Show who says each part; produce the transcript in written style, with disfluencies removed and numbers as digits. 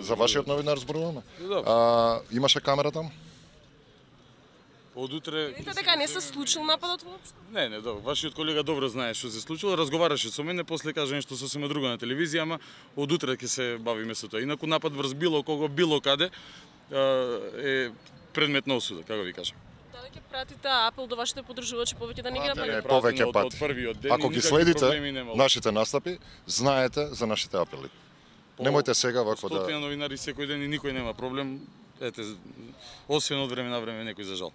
Speaker 1: За вашиот новинар зборуваме. Имаше камера таму?
Speaker 2: Од утре...
Speaker 3: Видите дека не се случил нападот воопшто?
Speaker 2: Не, добро. Вашиот колега добро знае што се случило, разговараше со мене, после кажа нешто сосема друго на телевизија, ама од утре ќе се бавиме со тоа. Инаку напад врз било кого, било каде е предмет на осуда, како ви кажам.
Speaker 3: Дали ќе пратите апел до вашите поддржувачи повеќе да не ги нападат?
Speaker 1: Повеќе пат.
Speaker 2: Од првиот ден.
Speaker 1: Ако ги следите нашите настапи, знаете за нашите апели. Немојте сега вакво да...
Speaker 2: Стотина новинари секој ден и никој нема проблем. Ете, освен од време на време некој за жал.